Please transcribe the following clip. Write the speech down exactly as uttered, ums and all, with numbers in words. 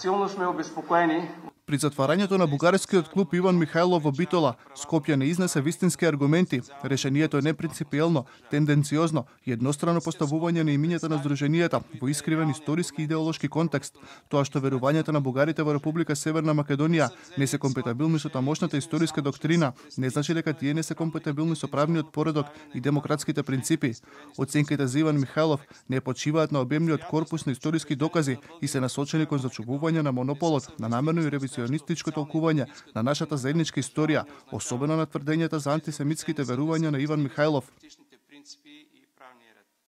Силно сме обезпокоени. При затварањето на бугарскиот клуб Иван Михајлов во Битола, Скопје не изнесе вистински аргументи. Решението е непринципиелно, тенденциозно и еднострано поставување на имињата на здруженијата во искривен историски и идеолошки контекст. Тоа што верувањата на бугарите во Република Северна Македонија не се компатибилни со тамошната историска доктрина, не значи дека тие не се компатибилни со правниот поредок и демократските принципи. Оценките за Иван Михајлов не почиваат на обемниот корпус на историски докази и се насочени кон зачувување на монополот на намерно и ревизионистичко толкување на нашата заедничка историја, особено на тврдењата за антисемитските верувања на Иван Михајлов.